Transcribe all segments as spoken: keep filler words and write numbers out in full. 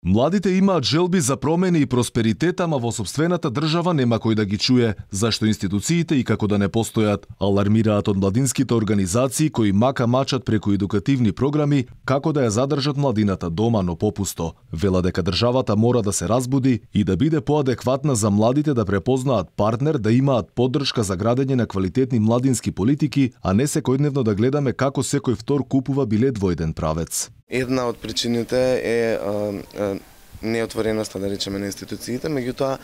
Младите имаат желби за промени и просперитет, ама во сопствената држава нема кој да ги чуе, зашто институциите и како да не постојат, алармираат од младинските организации кои мака мачат преку едукативни програми како да ја задржат младината дома, но попусто. Вела дека државата мора да се разбуди и да биде поадекватна за младите да препознаат партнер, да имаат поддршка за градење на квалитетни младински политики, а не секојдневно да гледаме како секој втор купува билет во еден правец. Една од причините е а, а, неотвореноста, да речеме, на институциите, меѓутоа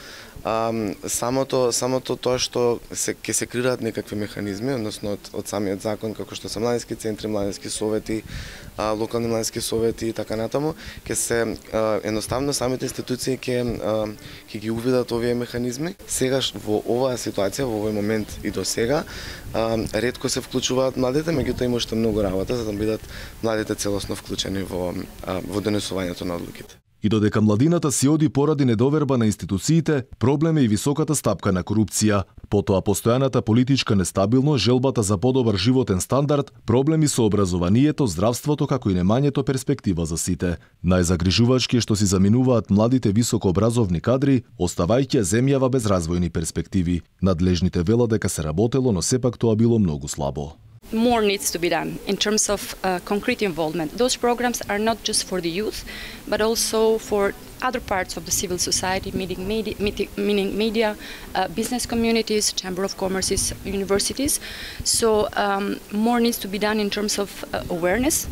а, самото самото тоа што се ќе се креираат некакви механизми, односно од, од самиот закон, како што се младински центри, младински совети, а, локални младински совети и така натаму, ќе се а, едноставно самите институции ќе ќе ги увидат овие механизми. Сегаш во оваа ситуација, во овој момент и до сега, а, ретко се вклучуваат младите, меѓутоа има уште многу работа за да бидат младите целосно вклучени во а, во донесувањето на одлуките. И додека младината си оди поради недоверба на институциите, проблем е и високата стапка на корупција. Потоа постојаната политичка нестабилност, желбата за подобар животен стандард, проблеми со образованието, здравството, како и немањето перспектива за сите. Најзагрижувачки е што си заминуваат младите високообразовни кадри, оставајќи земјава без развојни перспективи. Надлежните велат дека се работело, но сепак тоа било многу слабо. More needs to be done in terms of uh, concrete involvement. Those programs are not just for the youth, but also for other parts of the civil society, meaning media, meaning media uh, business communities, chamber of commerces, universities. So um, more needs to be done in terms of uh, awareness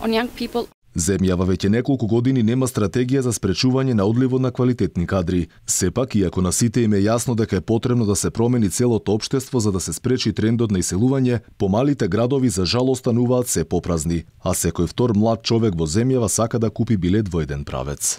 on young people. Земјава веќе неколку години нема стратегија за спречување на одливот на квалитетни кадри. Сепак, иако на сите им е јасно дека е потребно да се промени целото општество за да се спречи трендот на иселување, помалите градови за жал остануваат се попразни, а секој втор млад човек во земјава сака да купи билет во еден правец.